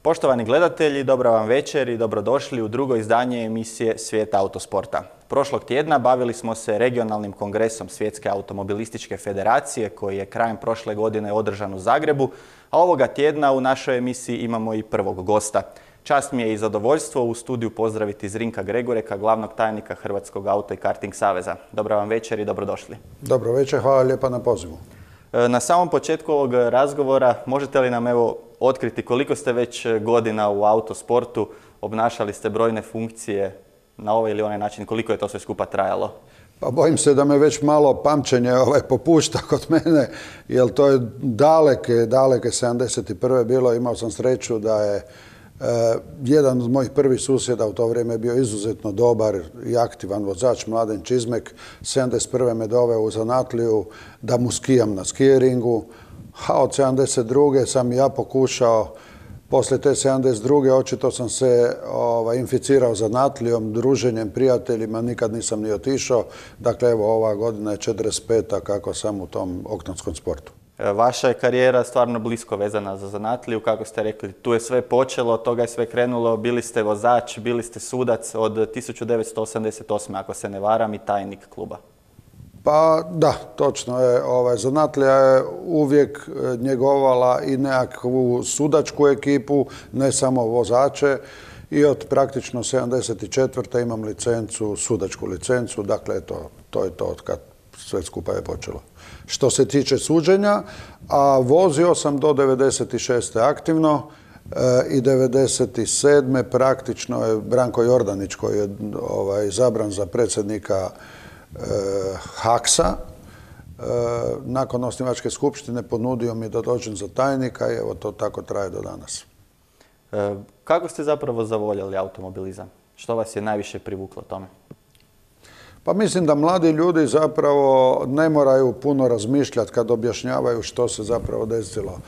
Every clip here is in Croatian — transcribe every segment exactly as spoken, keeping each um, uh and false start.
Poštovani gledatelji, dobra vam večer i dobrodošli u drugo izdanje emisije Svijet autosporta. Prošlog tjedna bavili smo se regionalnim kongresom Svjetske automobilističke federacije koji je krajem prošle godine održan u Zagrebu, a ovoga tjedna u našoj emisiji imamo i prvog gosta. Čast mi je i zadovoljstvo u studiju pozdraviti Zrinka Gregoreka, glavnog tajnika Hrvatskog auto i karting saveza. Dobra vam večer i dobrodošli. Dobro večer, hvala lijepa na pozivu. Na samom početku ovog razgovora možete li nam evo otkriti koliko ste već godina u autosportu, obnašali ste brojne funkcije na ovaj ili onaj način, koliko je to sve skupa trajalo? Pa bojim se da me već malo pamćenje ovaj, popušta kod mene, jer to je daleke, daleke sedamdeset prve bilo. Imao sam sreću da je eh, jedan od mojih prvih susjeda u to vrijeme bio izuzetno dobar i aktivan vozač, Mladen Čizmek. sedamdeset prve me doveo u zanatliju da mu skijam na skijeringu, a od sedamdeset druge sam ja pokušao. Poslije te sedamdeset druge očito sam se ovaj, inficirao zanatlijom, druženjem, prijateljima, nikad nisam ni otišao. Dakle, evo, ova godina je četrdeset peta kako sam u tom oktanskom sportu. Vaša je karijera stvarno blisko vezana za zanatliju, kako ste rekli. Tu je sve počelo, od toga je sve krenulo. Bili ste vozač, bili ste sudac od tisuću devetsto osamdeset osme ako se ne varam, i tajnik kluba. Pa da, točno je. Ovaj, zanatlija je uvijek njegovala i nekakvu sudačku ekipu, ne samo vozače. I od praktično sedamdeset četvrte imam licencu, sudačku licencu. Dakle, to, to je to od kad sve skupa je počelo. Što se tiče suđenja, a vozio sam do devedeset šeste aktivno e, i devedeset sedme praktično je Branko Jordanić koji je ovaj, izabran za predsjednika Haksa. Nakon osnivačke skupštine ponudio mi da dođem za tajnika i evo to tako traje do danas. Kako ste zapravo zavoljeli automobilizam? Što vas je najviše privuklo tome? Pa mislim da mladi ljudi zapravo ne moraju puno razmišljati kad objašnjavaju što se zapravo desilo.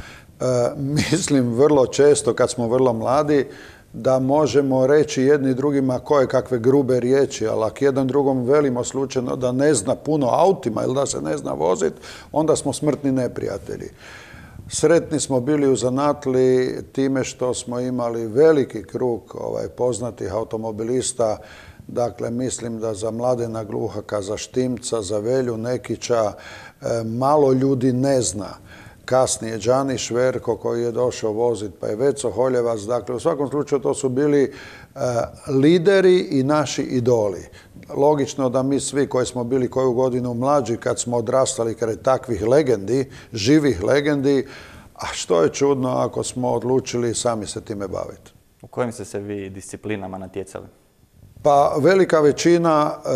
E, mislim vrlo često kad smo vrlo mladi da možemo reći jedni drugima koje kakve grube riječi, ali ako jedan drugom velimo slučajno da ne zna puno autima ili da se ne zna voziti, onda smo smrtni neprijatelji. Sretni smo bili u zanatliji time što smo imali veliki krug ovaj, poznatih automobilista. Dakle, mislim da za Mladena Gluhaka, za Štimca, za Velju Nekića e, malo ljudi ne zna. Kasnije Đani Šverko koji je došao voziti, pa je Veco Holjevac. Dakle, u svakom slučaju to su bili e, lideri i naši idoli. Logično da mi svi koji smo bili koju godinu mlađi kad smo odrastali kraj takvih legendi, živih legendi, a što je čudno ako smo odlučili sami se time baviti. U kojim ste se vi disciplinama natjecali? Pa velika većina e,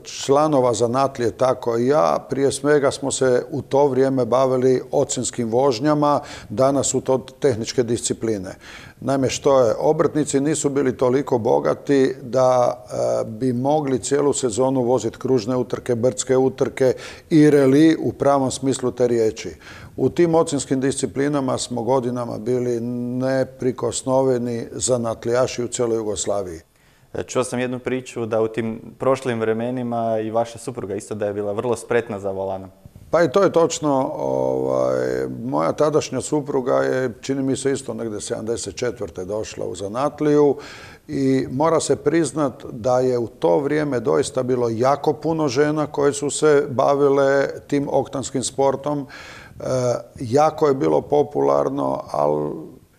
članova zanatlije, tako i ja, prije svega smo se u to vrijeme bavili ocjenskim vožnjama, danas su to tehničke discipline. Naime, što je, obrtnici nisu bili toliko bogati da e, bi mogli cijelu sezonu voziti kružne utrke, brdske utrke i reli u pravom smislu te riječi. U tim ocjenskim disciplinama smo godinama bili neprikosnoveni zanatlijaši u cijeloj Jugoslaviji. Čuo sam jednu priču da u tim prošlim vremenima i vaša supruga isto da je bila vrlo spretna za volanom. Pa i to je točno. Ovaj, moja tadašnja supruga je, čini mi se isto negdje sedamdeset četvrte došla u zanatliju i mora se priznat da je u to vrijeme doista bilo jako puno žena koje su se bavile tim oktanskim sportom. E, jako je bilo popularno, ali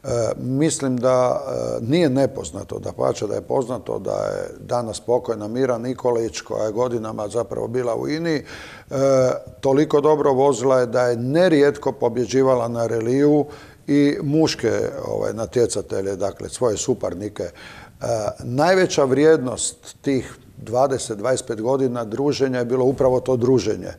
E, mislim da e, nije nepoznato, da pače da je poznato da je danas pokojna Mira Nikolić, koja je godinama zapravo bila u I N I, e, toliko dobro vozila je da je nerijetko pobjeđivala na reliju i muške ovaj, natjecatelje, dakle svoje suparnike. E, najveća vrijednost tih dvadeset do dvadeset pet godina druženja je bilo upravo to druženje. E,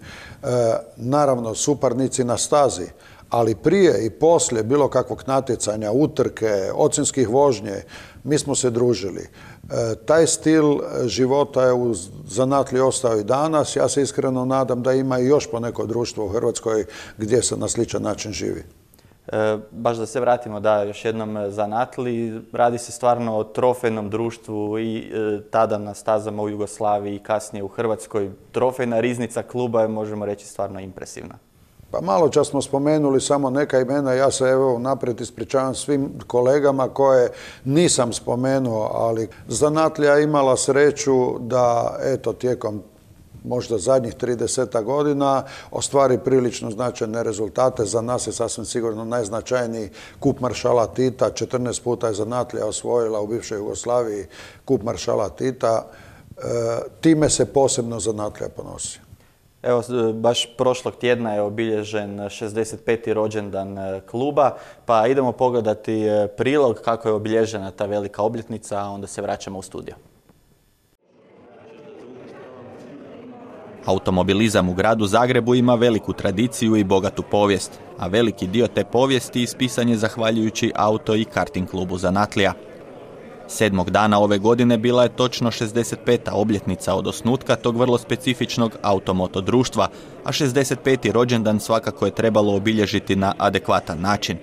naravno, suparnici na stazi, ali prije i poslije bilo kakvog natjecanja, utrke, ocjenskih vožnje, mi smo se družili. E, taj stil života je u zanatliji ostao i danas. Ja se iskreno nadam da ima i još poneko društvo u Hrvatskoj gdje se na sličan način živi. E, baš da se vratimo da još jednom zanatliji, radi se stvarno o trofejnom društvu i e, tada na stazama u Jugoslaviji i kasnije u Hrvatskoj. Trofejna riznica kluba je, možemo reći, stvarno impresivna. Pa malo čas smo spomenuli samo neka imena, ja se evo naprijed ispričavam svim kolegama koje nisam spomenuo, ali zanatlija imala sreću da eto tijekom možda zadnjih trideset godina ostvari prilično značajne rezultate. Za nas je sasvim sigurno najznačajniji kup maršala Tita. četrnaest puta je zanatlija osvojila u bivšoj Jugoslaviji kup maršala Tita. E, time se posebno zanatlija ponosi. Evo, baš prošlog tjedna je obilježen šezdeset peti rođendan kluba, pa idemo pogledati prilog kako je obilježena ta velika obljetnica, a onda se vraćamo u studio. Automobilizam u gradu Zagrebu ima veliku tradiciju i bogatu povijest, a veliki dio te povijesti ispisan je zahvaljujući auto i karting klubu Zanatlija. Sedmog dana ove godine bila je točno šezdeset peta obljetnica od osnutka tog vrlo specifičnog automoto društva, a šezdeset peti rođendan svakako je trebalo obilježiti na adekvatan način.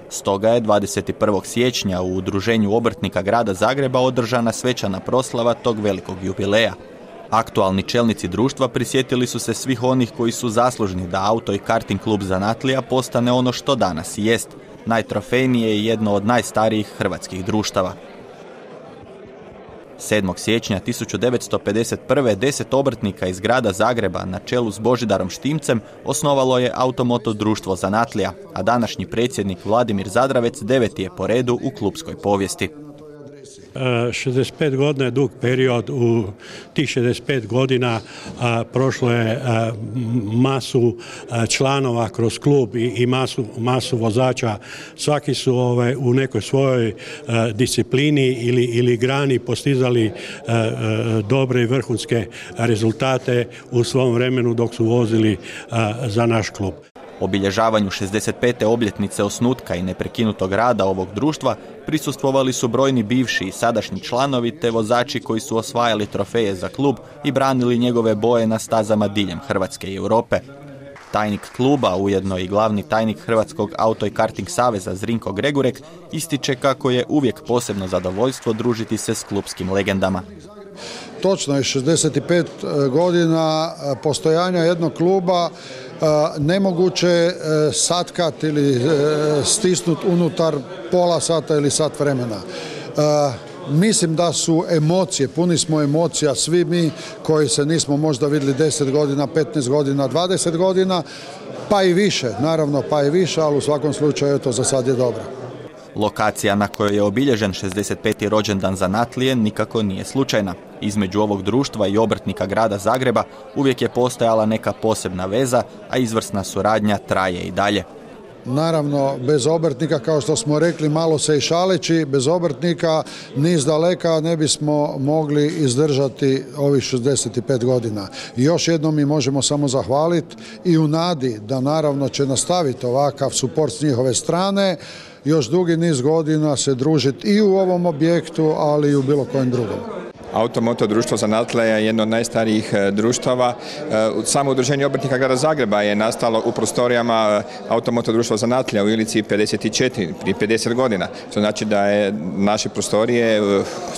Stoga je dvadeset prvog siječnja u Udruženju obrtnika grada Zagreba održana svečana proslava tog velikog jubileja. Aktualni čelnici društva prisjetili su se svih onih koji su zaslužni da auto i karting klub Zanatlija postane ono što danas i jest, najtrofejnije i jedno od najstarijih hrvatskih društava. sedmog siječnja tisuću devetsto pedeset prve. deset obrtnika iz grada Zagreba na čelu s Božidarom Štimcem osnovalo je Automoto društvo Zanatlija, a današnji predsjednik Vladimir Zadravec deveti je po redu u klubskoj povijesti. šezdeset pet godina je dug period. U tih šezdeset pet godina a, prošlo je a, masu a, članova kroz klub i, i masu, masu vozača. Svaki su ove, u nekoj svojoj a, disciplini ili, ili grani postizali a, a, dobre i vrhunske rezultate u svom vremenu dok su vozili a, za naš klub. Obilježavanju šezdeset pete obljetnice osnutka i neprekinutog rada ovog društva prisustvovali su brojni bivši i sadašnji članovi te vozači koji su osvajali trofeje za klub i branili njegove boje na stazama diljem Hrvatske i Europe. Tajnik kluba, ujedno i glavni tajnik Hrvatskog auto i karting saveza Zrinko Gregurek, ističe kako je uvijek posebno zadovoljstvo družiti se s klubskim legendama. Točno je, šezdeset pet godina postojanja jednog kluba nemoguće satkat ili stisnut unutar pola sata ili sat vremena. Mislim da su emocije, puni smo emocija, svi mi koji se nismo možda vidjeli deset godina, petnaest godina, dvadeset godina, pa i više, naravno pa i više, ali u svakom slučaju to za sad je dobro. Lokacija na kojoj je obilježen šezdeset peti rođendan Zanatlije nikako nije slučajna. Između ovog društva i obrtnika grada Zagreba uvijek je postojala neka posebna veza, a izvrsna suradnja traje i dalje. Naravno, bez obrtnika, kao što smo rekli, malo se i šaleći, bez obrtnika niz daleka ne bismo mogli izdržati ovih šezdeset pet godina. I još jednom mi možemo samo zahvaliti i u nadi da naravno će nastaviti ovakav suport s njihove strane, još dugi niz godina se družiti i u ovom objektu, ali i u bilo kojem drugom. Automoto društvo Zanatlija je jedno od najstarijih društava. Samo udruženje obrtnika grada Zagreba je nastalo u prostorijama Automoto društva Zanatlija u Ilici pedeset četiri, prije pedeset godina. To znači da je naše prostorije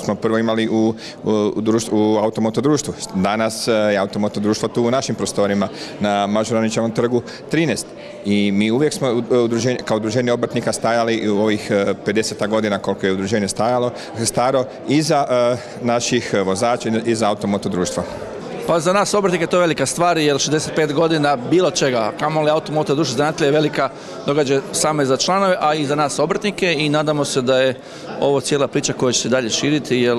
smo prvo imali u, u, društvu, u Automoto društvu. Danas je Automoto društvo tu u našim prostorima na Mažuranićevom trgu trinaest. I mi uvijek smo udruženje, kao udruženje obrtnika stajali u ovih pedeset godina koliko je udruženje stajalo, staro iza uh, naših vozača i za Automoto društva. Pa za nas obrtnike to je velika stvar, jer šezdeset pet godina bilo čega, kamoli Automoto društvo Zanatlija je velika događaj same za članove, a i za nas obrtnike, i nadamo se da je ovo cijela priča koja će se dalje širiti, jer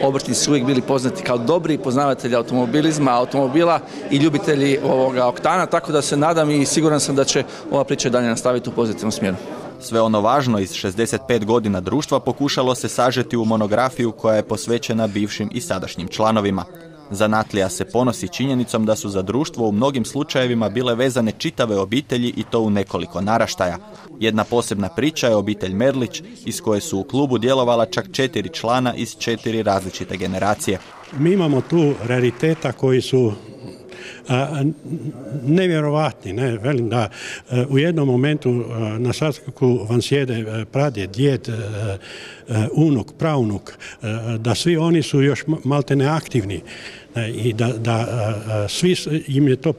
obrtnici su uvijek bili poznati kao dobri poznavatelji automobilizma, automobila i ljubitelji ovoga oktana, tako da se nadam i siguran sam da će ova priča dalje nastaviti u pozitivnom smjeru. Sve ono važno iz šezdeset pet godina društva pokušalo se sažeti u monografiju koja je posvećena bivšim i sadašnjim članovima. Zanatlija se ponosi činjenicom da su za društvo u mnogim slučajevima bile vezane čitave obitelji i to u nekoliko naraštaja. Jedna posebna priča je obitelj Merlić, iz koje su u klubu djelovala čak četiri člana iz četiri različite generacije. Mi imamo tu rariteta koji su a, nevjerovatni. Ne? Velim da a, u jednom momentu a, na sastanku vam sjede pradjed, djed, a, unuk, praunuk, da svi oni su još malte neaktivni i da, da svi im je to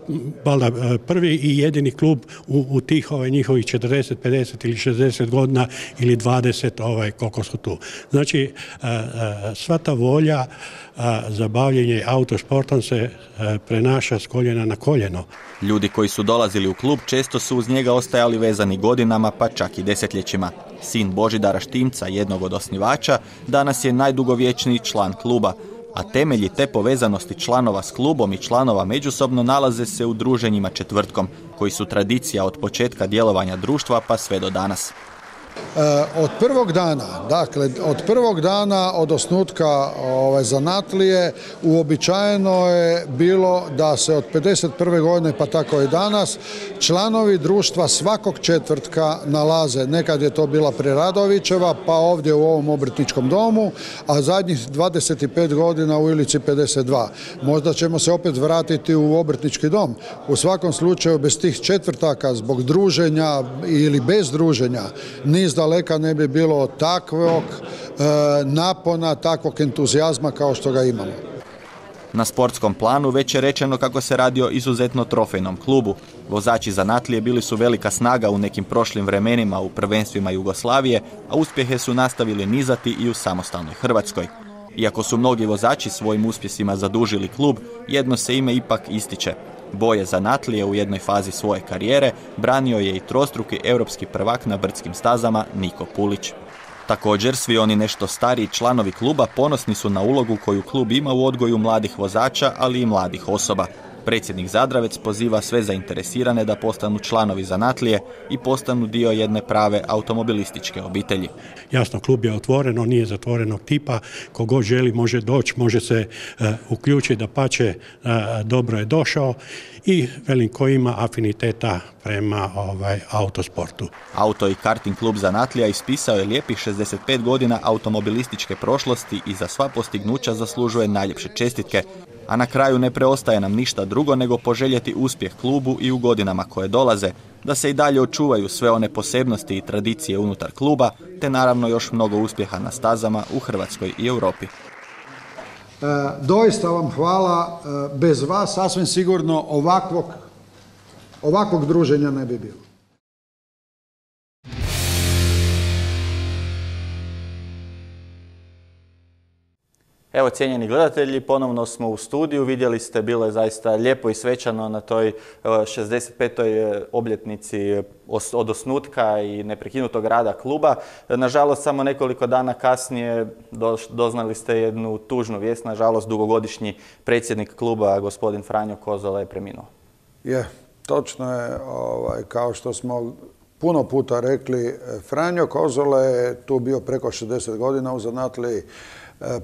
valjda prvi i jedini klub u, u tih ovaj, njihovih četrdeset, pedeset ili šezdeset godina ili dvadeset ovaj, koliko su tu. Znači, sva ta volja za bavljenje autosportom se prenaša s koljena na koljeno. Ljudi koji su dolazili u klub često su uz njega ostajali vezani godinama, pa čak i desetljećima. Sin Božidara Štimca, jednog od osnivača, danas je najdugovječniji član kluba, a temelji te povezanosti članova s klubom i članova međusobno nalaze se u druženjima četvrtkom, koji su tradicija od početka djelovanja društva pa sve do danas. Od prvog dana, dakle, od prvog dana od osnutka ovaj, zanatlije uobičajeno je bilo da se od pedeset prve godine pa tako i danas članovi društva svakog četvrtka nalaze. Nekad je to bila Preradovićeva, pa ovdje u ovom obrtničkom domu, a zadnjih dvadeset pet godina u Ilici pedeset dva. Možda ćemo se opet vratiti u obrtnički dom. U svakom slučaju bez tih četvrtaka zbog druženja ili bez druženja niz daleka ne bi bilo takvog e, napona, takvog entuzijazma kao što ga imamo. Na sportskom planu već je rečeno kako se radi o izuzetno trofejnom klubu. Vozači zanatlije bili su velika snaga u nekim prošlim vremenima u prvenstvima Jugoslavije, a uspjehe su nastavili nizati i u samostalnoj Hrvatskoj. Iako su mnogi vozači svojim uspjesima zadužili klub, jedno se ime ipak ističe. Boje zanatlije u jednoj fazi svoje karijere branio je i trostruki europski prvak na brdskim stazama Niko Pulić. Također, svi oni nešto stariji članovi kluba ponosni su na ulogu koju klub ima u odgoju mladih vozača, ali i mladih osoba. Predsjednik Zadravec poziva sve zainteresirane da postanu članovi zanatlije i postanu dio jedne prave automobilističke obitelji. Jasno, klub je otvoreno, nije zatvorenog tipa, kogo želi može doći, može se uh, uključiti, da pače uh, dobro je došao i velim ko ima afiniteta prema ovaj, autosportu. Auto i karting klub zanatlija ispisao je lijepih šezdeset pet godina automobilističke prošlosti i za sva postignuća zaslužuje najljepše čestitke. A na kraju ne preostaje nam ništa drugo nego poželjeti uspjeh klubu i u godinama koje dolaze, da se i dalje očuvaju sve one posebnosti i tradicije unutar kluba, te naravno još mnogo uspjeha na stazama u Hrvatskoj i Europi. E, doista vam hvala, e, bez vas sasvim sigurno ovakvog, ovakvog druženja ne bi bilo. Evo, cijenjeni gledatelji, ponovno smo u studiju. Vidjeli ste, bilo je zaista lijepo i svečano na toj šezdeset petoj obljetnici od osnutka i neprekinutog rada kluba. Nažalost, samo nekoliko dana kasnije doznali ste jednu tužnu vijest. Nažalost, dugogodišnji predsjednik kluba, gospodin Franjo Kozola, je preminuo. Je, točno je, ovaj, kao što smo puno puta rekli, Franjo Kozola je tu bio preko šezdeset godina u zanatliji.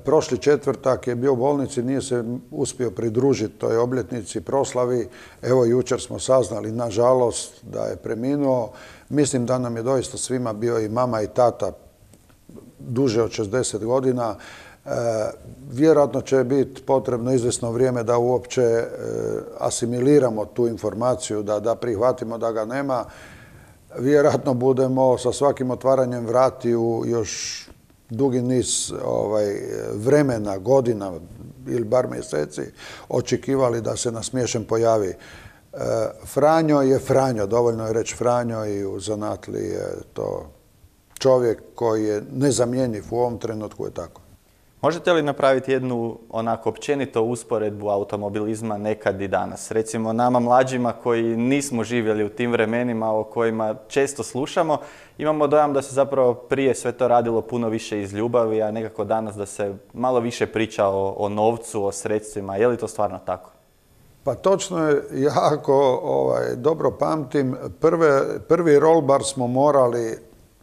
Prošli četvrtak je bio u bolnici, nije se uspio pridružiti toj obljetnici, proslavi. Evo, jučer smo saznali, nažalost, da je preminuo. Mislim da nam je doista svima bio i mama i tata duže od šezdeset godina. E, vjerojatno će biti potrebno izvjesno vrijeme da uopće e, asimiliramo tu informaciju, da, da prihvatimo da ga nema. Vjerojatno budemo sa svakim otvaranjem vratiju još dugi niz ovaj, vremena, godina ili bar mjeseci očekivali da se na smiješen pojavi. E, Franjo je Franjo, dovoljno je reći Franjo, i u zanatliji je to čovjek koji je nezamjenjiv, u ovom trenutku je tako. Možete li napraviti jednu onako općenito usporedbu automobilizma nekad i danas? Recimo nama mlađima koji nismo živjeli u tim vremenima o kojima često slušamo, imamo dojam da se zapravo prije sve to radilo puno više iz ljubavi, a nekako danas da se malo više priča o, o novcu, o sredstvima. Je li to stvarno tako? Pa točno je, jako ovaj, dobro pamtim, prve, prvi rollbar smo morali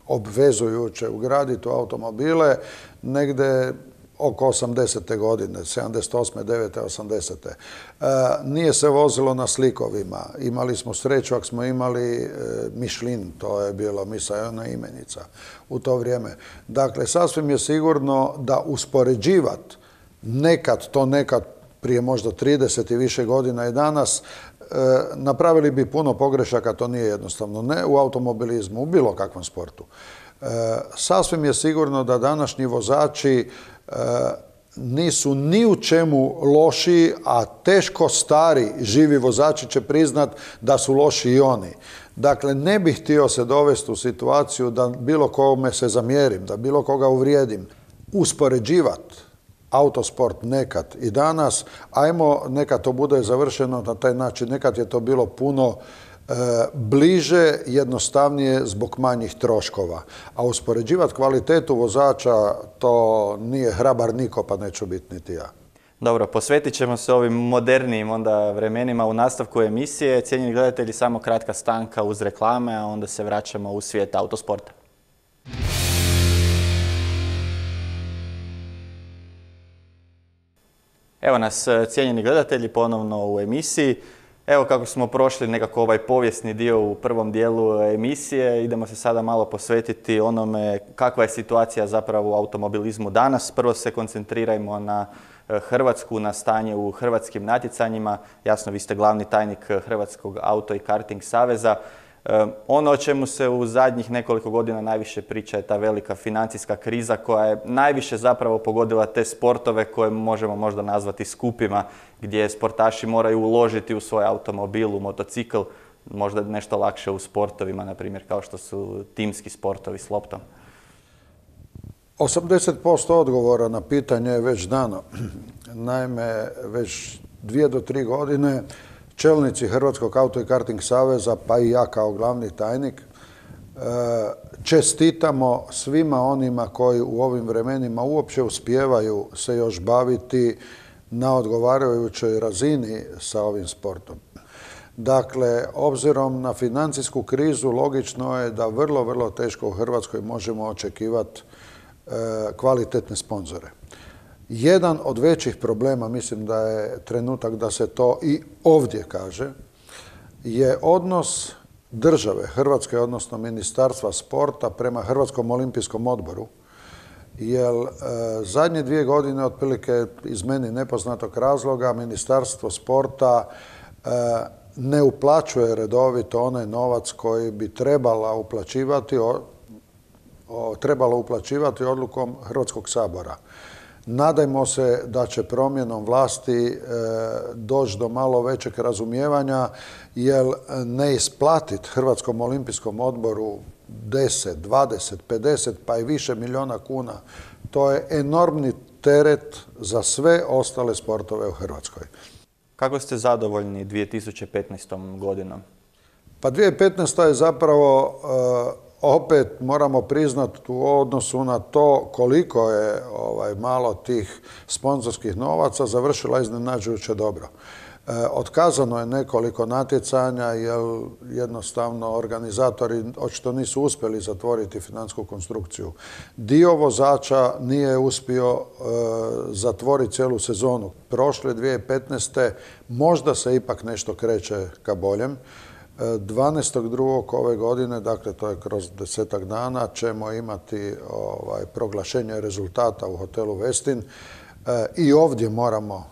obvezujuće ugraditi u automobile negdje oko osamdesete godine, sedamdeset osme, devete, osamdesete. E, nije se vozilo na slikovima. Imali smo sreću ako smo imali e, Michelin, to je bilo misaona imenica u to vrijeme. Dakle, sasvim je sigurno da uspoređivat nekad, to nekad prije možda trideset i više godina i danas, e, napravili bi puno pogrešaka, to nije jednostavno. Ne u automobilizmu, u bilo kakvom sportu. Sasvim je sigurno da današnji vozači nisu ni u čemu lošiji, a teško stari živi vozači će priznat da su loši i oni. Dakle, ne bih htio se dovesti u situaciju da bilo kome se zamjerim, da bilo koga uvrijedim. Uspoređivati autosport nekad i danas, ajmo neka to bude završeno na taj način, nekad je to bilo puno e, bliže, jednostavnije zbog manjih troškova. A uspoređivati kvalitetu vozača, to nije hrabar niko, pa neću biti niti ja. Dobro, posvetit ćemo se ovim modernijim onda vremenima u nastavku emisije. Cijenjeni gledatelji, samo kratka stanka uz reklame, a onda se vraćamo u svijet autosporta. Evo nas, cijenjeni gledatelji, ponovno u emisiji. Evo kako smo prošli nekako ovaj povijesni dio u prvom dijelu emisije, idemo se sada malo posvetiti onome kakva je situacija zapravo u automobilizmu danas. Prvo se koncentrirajmo na Hrvatsku, na stanje u hrvatskim natjecanjima. Jasno, vi ste glavni tajnik Hrvatskog auto i karting saveza. Ono o čemu se u zadnjih nekoliko godina najviše priča je ta velika financijska kriza koja je najviše zapravo pogodila te sportove koje možemo možda nazvati skupima, gdje sportaši moraju uložiti u svoj automobil, u motocikl, možda nešto lakše u sportovima, na primjer kao što su timski sportovi s loptom. osamdeset posto odgovora na pitanje je već dano. Naime, već dvije do tri godine čelnici Hrvatskog auto i karting saveza, pa i ja kao glavni tajnik, čestitamo svima onima koji u ovim vremenima uopće uspijevaju se još baviti na odgovarajućoj razini sa ovim sportom. Dakle, obzirom na financijsku krizu, logično je da vrlo, vrlo teško u Hrvatskoj možemo očekivati kvalitetne sponzore. Jedan od većih problema, mislim da je trenutak da se to i ovdje kaže, je odnos države Hrvatske, odnosno Ministarstva sporta prema Hrvatskom olimpijskom odboru. Jer e, zadnje dvije godine, otprilike iz meni nepoznatog razloga, Ministarstvo sporta e, ne uplaćuje redovito onaj novac koji bi trebala uplaćivati, o, o, trebalo uplaćivati odlukom Hrvatskog sabora. Nadajmo se da će promjenom vlasti e, doći do malo većeg razumijevanja, jer ne isplatiti Hrvatskom olimpijskom odboru deset, dvadeset, pedeset pa i više milijuna kuna, to je enormni teret za sve ostale sportove u Hrvatskoj. Kako ste zadovoljni dvije tisuće petnaestom godinom? Pa dvije tisuće petnaesta je zapravo e, opet moramo priznati u odnosu na to koliko je ovaj, malo tih sponzorskih novaca završila iznenađujuće dobro. E, otkazano je nekoliko natjecanja jer jednostavno organizatori očito nisu uspjeli zatvoriti financijsku konstrukciju. Dio vozača nije uspio e, zatvoriti cijelu sezonu. Prošle dvije tisuće petnaeste možda se ipak nešto kreće ka boljem. dvanaestog drugog ove godine, dakle to je kroz desetak dana, ćemo imati ovaj, proglašenje rezultata u hotelu Westin. E, I ovdje moramo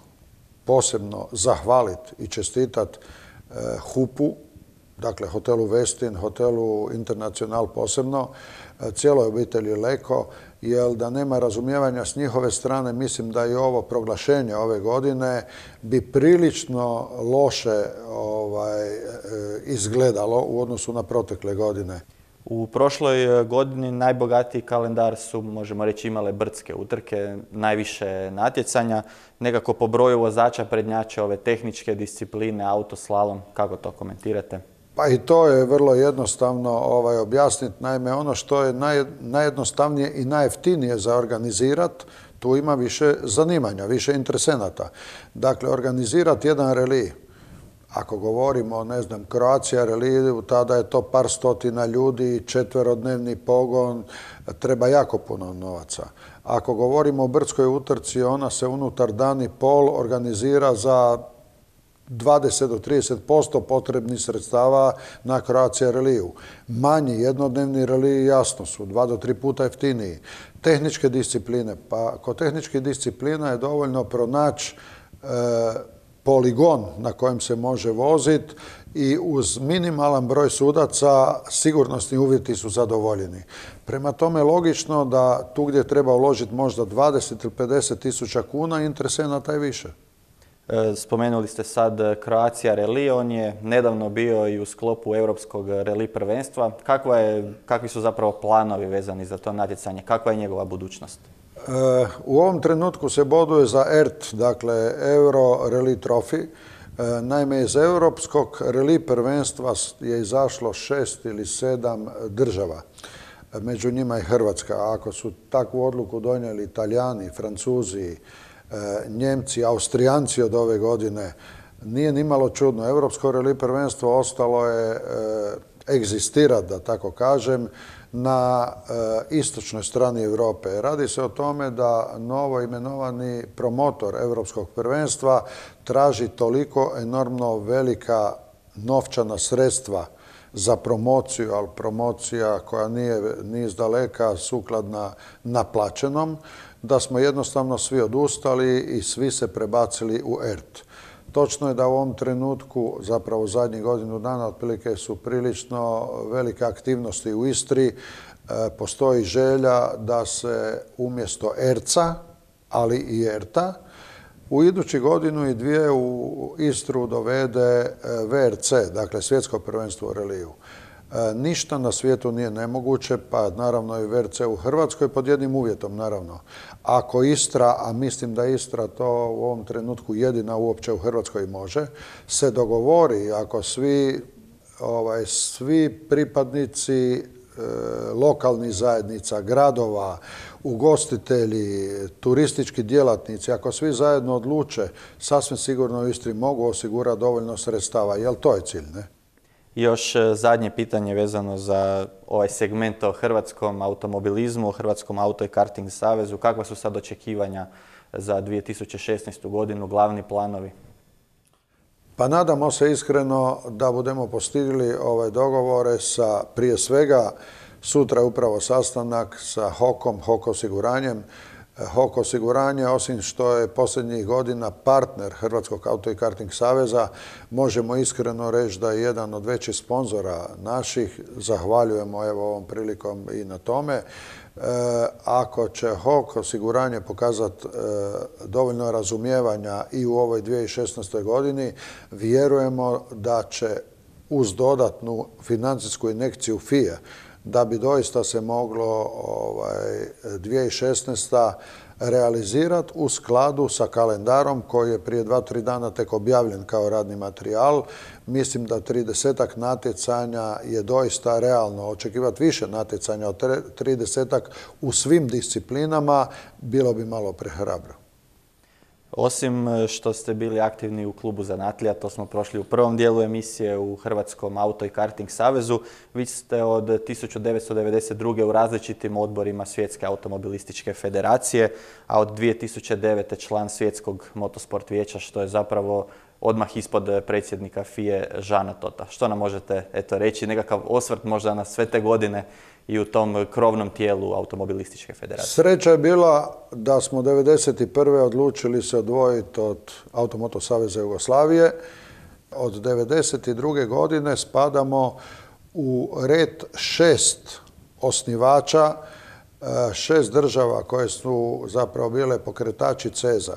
posebno zahvaliti i čestitati e, H U P-u, dakle hotelu Westin, hotelu Internacional posebno, e, cijeloj obitelji Leko, jer da nema razumijevanja s njihove strane, mislim da i ovo proglašenje ove godine bi prilično loše ovaj, izgledalo u odnosu na protekle godine. U prošloj godini najbogatiji kalendar su, možemo reći, imale brdske utrke, najviše natjecanja. Nekako po broju vozača prednjače ove tehničke discipline, autoslalom. Kako to komentirate? Pa i to je vrlo jednostavno ovaj, objasniti. Naime, ono što je naj, najjednostavnije i najjeftinije za organizirati, tu ima više zanimanja, više interesenata. Dakle, organizirati jedan relij, ako govorimo, ne znam, Croatia reliju, tada je to par stotina ljudi, četverodnevni pogon, treba jako puno novaca. Ako govorimo o brdskoj utrci, ona se unutar dan i pol organizira za dvadeset do trideset posto potrebnih sredstava na Croatia reliju. Manji jednodnevni reliji jasno su, dva do tri puta jeftiniji. Tehničke discipline, pa kod tehničkih disciplina je dovoljno pronaći e, poligon na kojem se može voziti i uz minimalan broj sudaca sigurnosni uvjeti su zadovoljeni. Prema tome logično da tu gdje treba uložiti možda dvadeset ili pedeset tisuća kuna, interesenata je više. Spomenuli ste sad Croatia Rally, on je nedavno bio i u sklopu Europskog rally prvenstva. Kakva je, kakvi su zapravo planovi vezani za to natjecanje? Kakva je njegova budućnost? E, u ovom trenutku se boduje za E R T, dakle Euro Rally Trophy. E, naime, iz Europskog rally prvenstva je izašlo šest ili sedam država. Među njima i Hrvatska. Ako su takvu odluku donijeli Italijani, Francuzi, Njemci, Austrijanci od ove godine, nije nimalo čudno. Europsko rally prvenstvo ostalo je egzistirati, da tako kažem, na istočnoj strani Europe. Radi se o tome da novo imenovani promotor Europskog prvenstva traži toliko enormno velika novčana sredstva za promociju, ali promocija koja nije ni izdaleka sukladna naplaćenom, da smo jednostavno svi odustali i svi se prebacili u E R T. Točno je da u ovom trenutku, zapravo zadnjih godinu dana, otprilike su prilično velike aktivnosti u Istri. Postoji želja da se umjesto E R C-a, ali i E R T-a, u idući godinu i dvije u Istru dovede V R C, dakle Svjetsko prvenstvo u reliju. Ništa na svijetu nije nemoguće, pa naravno i V R C u Hrvatskoj pod jednim uvjetom, naravno. Ako Istra, a mislim da Istra to u ovom trenutku jedina uopće u Hrvatskoj može, se dogovori, ako svi, ovaj, svi pripadnici e, lokalnih zajednica, gradova, ugostitelji, turistički djelatnici, ako svi zajedno odluče, sasvim sigurno u Istri mogu osigurati dovoljno sredstava. Jel to je cilj, ne? I još zadnje pitanje vezano za ovaj segment o hrvatskom automobilizmu, o Hrvatskom auto i karting savezu. Kakva su sad očekivanja za dvije tisuće šesnaestu godinu, glavni planovi? Pa nadamo se iskreno da budemo postigli ove dogovore sa, prije svega, sutra je upravo sastanak sa H O K-om, H O K osiguranjem. H O K osiguranje, osim što je posljednjih godina partner Hrvatskog auto i karting saveza, možemo iskreno reći da je jedan od većih sponzora naših. Zahvaljujemo evo ovom prilikom i na tome. E, ako će H O K osiguranje pokazati e, dovoljno razumijevanja i u ovoj dvije tisuće šesnaestoj godini, vjerujemo da će uz dodatnu financijsku injekciju F I E da bi doista se moglo ovaj, dvije tisuće šesnaesta realizirati u skladu sa kalendarom koji je prije dva, tri dana tek objavljen kao radni materijal. Mislim da tridesetak natjecanja je doista realno. Očekivati više natjecanja od tridesetak u svim disciplinama bilo bi malo prehrabro. Osim što ste bili aktivni u klubu zanatlija, to smo prošli u prvom dijelu emisije u Hrvatskom auto i karting savezu, vi ste od tisuću devetsto devedeset druge u različitim odborima Svjetske automobilističke federacije, a od dvije tisuće devete član Svjetskog motosport vijeća, što je zapravo odmah ispod predsjednika F I E Žana Tota. Što nam možete eto, reći, nekakav osvrt možda na sve te godine i u tom krovnom tijelu automobilističke federacije? Sreća je bila da smo devedeset prve odlučili se odvojiti od Automoto saveza Jugoslavije. Od devedeset druge godine spadamo u red šest osnivača, šest država koje su zapravo bile pokretači ceza.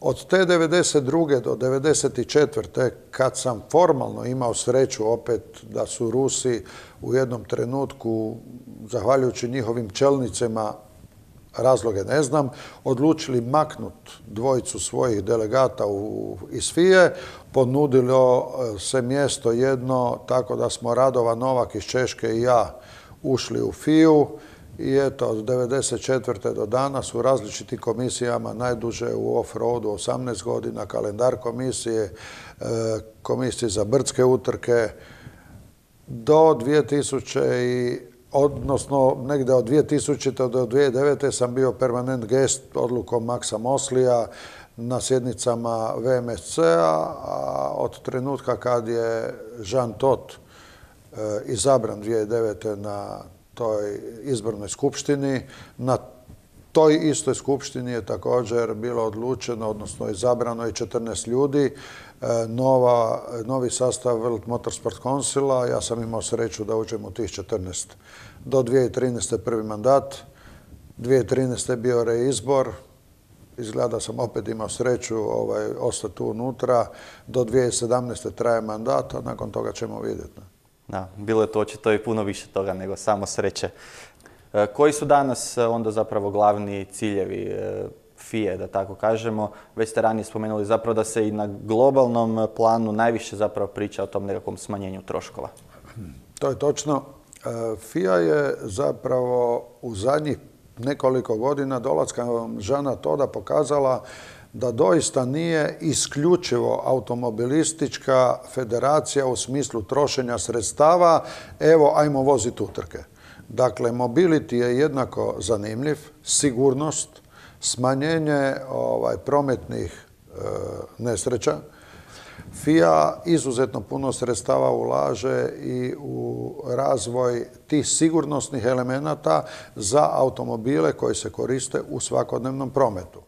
Od te devedeset druge do devedeset četvrte kad sam formalno imao sreću opet da su Rusi u jednom trenutku, zahvaljujući njihovim čelnicima, razloge ne znam, odlučili maknut dvojicu svojih delegata u, iz F I E, ponudilo se mjesto jedno, tako da smo Radovan Novak iz Češke i ja ušli u F I U. I eto, od devedeset četvrte do danas u različitim komisijama, najduže u off-roadu osamnaest godina, kalendar komisije, komisije za brdske utrke, do dvije tisuće i odnosno negdje od dvije tisućite do dvije tisuće devete sam bio permanent gest odlukom Maksa Moslija na sjednicama V M S C-a, a od trenutka kad je Jean Todt izabran dvije tisuće devete na toj izbornoj skupštini, na toj istoj skupštini je također bilo odlučeno, odnosno izabrano je četrnaest ljudi, nova, novi sastav World Motorsport Councila. Ja sam imao sreću da uđem u tih četrnaest. Do dvije tisuće trinaeste. prvi mandat, dvije tisuće trinaeste. je bio reizbor, izgleda sam opet imao sreću ovaj, ostati tu unutra, do dvije tisuće sedamnaeste. traje mandat, a nakon toga ćemo vidjeti. Da, bilo je to očito i puno više toga nego samo sreće. E, koji su danas onda zapravo glavni ciljevi e, F I E, da tako kažemo? Već ste ranije spomenuli zapravo da se i na globalnom planu najviše zapravo priča o tom nekakvom smanjenju troškova. To je točno. F I A je zapravo u zadnjih nekoliko godina dolaska Žana Toda pokazala da doista nije isključivo automobilistička federacija u smislu trošenja sredstava, evo, ajmo voziti utrke. Dakle, mobility je jednako zanimljiv, sigurnost, smanjenje ovaj, prometnih e, nesreća. F I A izuzetno puno sredstava ulaže i u razvoj tih sigurnosnih elemenata za automobile koji se koriste u svakodnevnom prometu.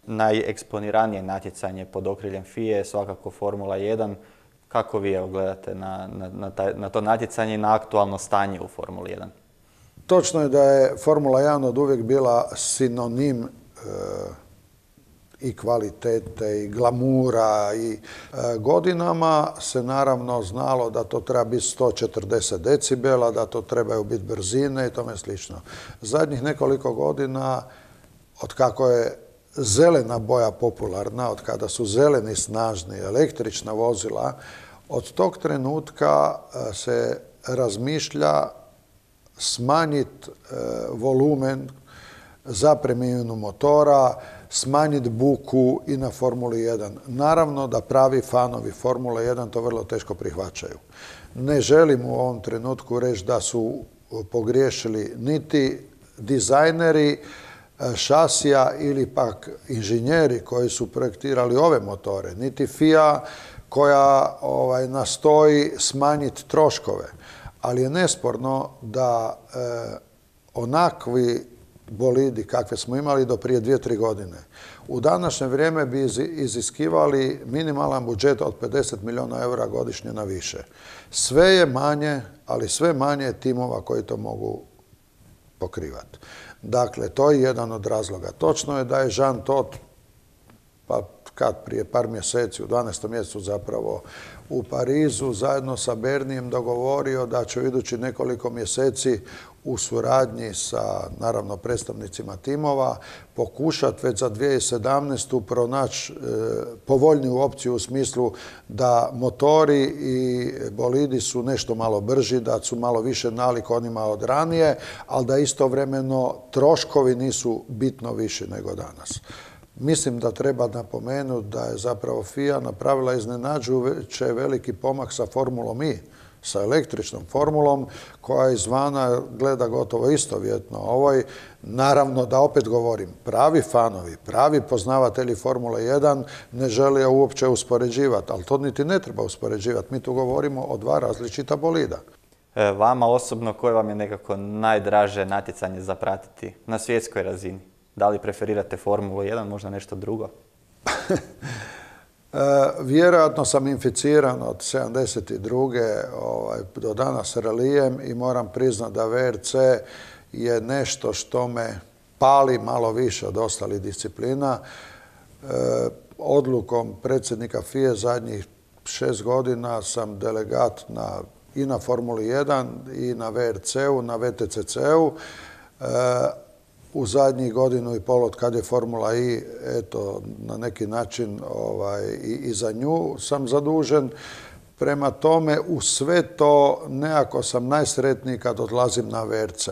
Najeksponiranije natjecanje pod okriljem F I E je svakako Formula jedan. Kako vi evo gledate na, na, na, taj, na to natjecanje i na aktualno stanje u Formuli jedan? Točno je da je Formula jedan od uvijek bila sinonim e, i kvalitete i glamura i e, godinama se naravno znalo da to treba biti sto četrdeset decibela, da to trebaju biti brzine i tome slično. Zadnjih nekoliko godina, od kako je zelena boja popularna, od kada su zeleni snažni električna vozila, od tog trenutka se razmišlja smanjiti e, volumen za premijenu motora, smanjiti buku i na Formuli jedan. Naravno da pravi fanovi Formule jedan to vrlo teško prihvaćaju. Ne želim u ovom trenutku reći da su pogriješili niti dizajneri šasija ili pak inženjeri koji su projektirali ove motore, niti F I A koja ovaj, nastoji smanjiti troškove. Ali je nesporno da e, onakvi bolidi kakve smo imali do prije dvije, tri godine, u današnje vrijeme bi iziskivali minimalan budžet od pedeset milijuna eura godišnje na više. Sve je manje, ali sve manje timova koji to mogu pokrivati. Dakle, to je jedan od razloga. Točno je da je Jean Todt, pa kad prije par mjeseci, u dvanaestom mjesecu zapravo u Parizu, zajedno sa Bernijem dogovorio da će u idući nekoliko mjeseci u suradnji sa, naravno, predstavnicima timova pokušati već za dvije tisuće sedamnaestu pronaći e, povoljniju opciju u smislu da motori i bolidi su nešto malo brži, da su malo više nalik onima od ranije, ali da istovremeno troškovi nisu bitno viši nego danas. Mislim da treba napomenuti da je zapravo F I A napravila iznenađujuće veliki pomak sa Formulom I, sa električnom formulom koja izvana gleda gotovo istovjetno ovoj. Naravno da opet govorim, pravi fanovi, pravi poznavatelji Formule jedan ne žele uopće uspoređivati, ali to niti ne treba uspoređivati. Mi tu govorimo o dva različita bolida. E, vama osobno koje vam je nekako najdraže natjecanje za pratiti na svjetskoj razini? Da li preferirate Formulu jedan, možda nešto drugo? E, vjerojatno sam inficiran od sedamdeset druge ovaj, do danas relijem i moram priznati da V R C je nešto što me pali malo više od ostalih disciplina. E, odlukom predsjednika F I E zadnjih šest godina sam delegat na, i na Formuli jedan i na V R C-u, na V T C C-u. E, u zadnjih godinu i pol od kad je Formula I, eto, na neki način ovaj, i, i za nju sam zadužen. Prema tome, u sve to nekako sam najsretniji kad odlazim na V R C.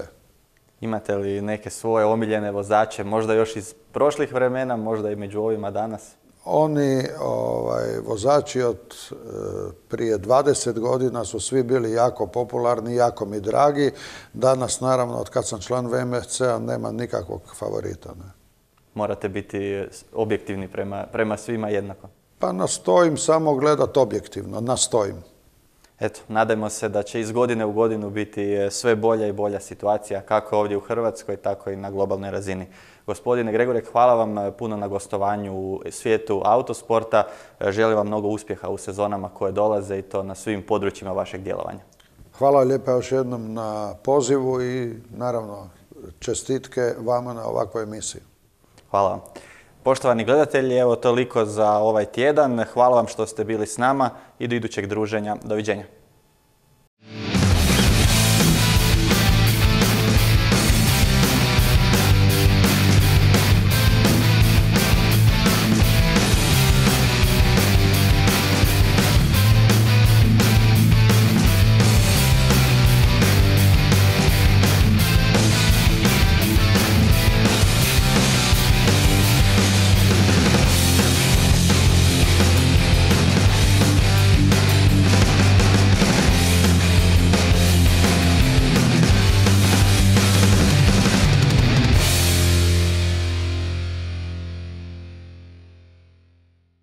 Imate li neke svoje omiljene vozače, možda još iz prošlih vremena, možda i među ovima danas? Oni ovaj, vozači od e, prije dvadeset godina su svi bili jako popularni, jako mi dragi. Danas, naravno, od kad sam član V M S C-a, nema nikakvog favorita. Ne. Morate biti objektivni prema, prema svima jednako. Pa nastojim samo gledati objektivno, nastojim. Eto, nadajmo se da će iz godine u godinu biti sve bolja i bolja situacija, kako ovdje u Hrvatskoj, tako i na globalnoj razini. Gospodine Gregorek, hvala vam puno na gostovanju u svijetu autosporta. Želim vam mnogo uspjeha u sezonama koje dolaze i to na svim područjima vašeg djelovanja. Hvala lijepa još jednom na pozivu i naravno čestitke vama na ovakvoj emisiji. Hvala vam. Poštovani gledatelji, evo toliko za ovaj tjedan. Hvala vam što ste bili s nama i do idućeg druženja. Doviđenja.